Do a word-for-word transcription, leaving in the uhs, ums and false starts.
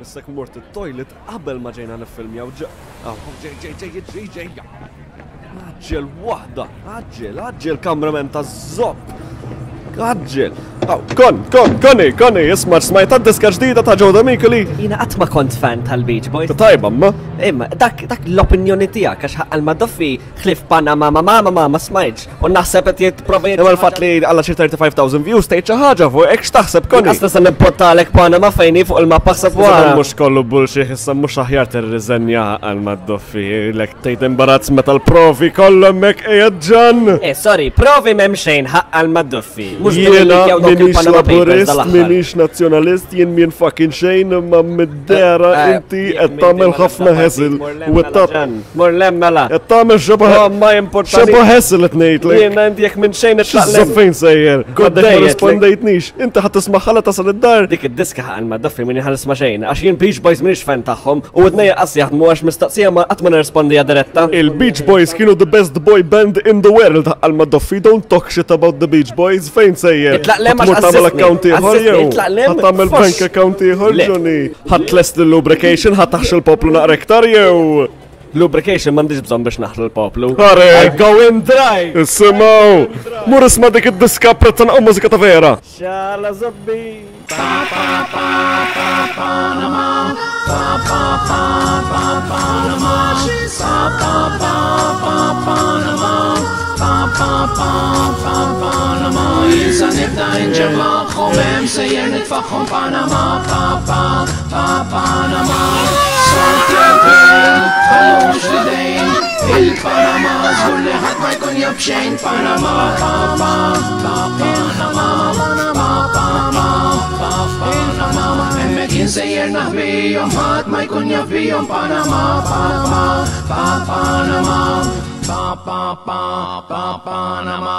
Missek mort it-toilet qabel ma ġejna niffilmjaw ġa. Aw, ġej, ġej, ġej, ġej, ġej. Għaġġel waħda, għaġġel, għaġġel cameraman ta' zopp. Għaġġel. Aw, kon, kon, koni, koni, isma' smajt diska ġdida ta' Joe Demicoli. Jiena qatt ma kont fan tal-Beach Boys. Tajba, ma. Imma dak dak l-opinjoni tiegħek għax ħaqqal ma doffi ħlif Panama ma ma ma ma ma smajtx. U naħseb qed jitprova Imma l-fatt li għalla xi thirty-five thousand views tgħid xi ħaġa fuq hekk, x'taħseb, Koni? Qas nista' nipportalek Panama fejni fuq il-mappa, ħseb wara. Mhux kollu bullshit, issa mhux aħjar tirriżenja għal ma doffi, lek tgħid imbarazz meta l-provi kollha hemmhekk qiegħed ġan. Eh, sorry, provi m'hemm xejn ħaqqal ma doffi. Mhux Jiena billi minix il-Panama Papers laburist, dal-aħħar. Minix nazzjonalist, jien min fucking xejn, imma mid-dera Eh, inti qed tagħmel ħafna hassle u qed Mur lem mela. qed tagħmel xeba Oh, ma importanti. xeba hassle qed ngħidlek. Jiena inti jekk minn xejn itlaq lem. Fejn sejjer? Good Għadek day, ma rispondejtnix. Inti ħadd tismaħħala tasal id-dar. Dik id-diska ħaqal ma doffi minni ħalis ma xejn, għax jien Beach Boys minix fan tagħhom u id-nejja qas jaħdmu għax mistaqsija ma qatt ma nirrispondi diretta. Il-Beach Boys kienu the best boy band in the world għal ma doffi. Don't talk shit about the Beach Boys. Fejn sejjer? Itlaq lem għax Ħa tmur tagħmel assistni. account ieħor Assistni, jew? itlaq lem, Ħa tagħmel fos. Bank account ieħor, Le. Johnny? Ħa tlest l-lubrication, ħa taħx il-poplu naqra iktar jew? Lubrication m'għandix bżonn biex naħlu l-poplu. Are. I go in dry. Isimgħu! Mur isma' dik id-diska, prezza naqgħu mużika ta' vera. Xala zobbi. Pa pa pa pa Panama, pa pa pa pa Panama, pa pa pa pa Panama, pa pa pa pa Panama. Jien sa nibda inġemmaħħom hemm sejjer nitfaħħom Panama, pa pa pa Panama. Skont il-gvern, tħallux l-idejn, il-Panama, żgur li ħadd ma jkun jaf xejn Panama, pa pa pa Panama, pa pa pa pa Panama. Hemmhekk jien sejjer naħbihom, ħadd ma jkun jaf bihom Panama, pa pa pa Panama, pa pa pa pa Panama.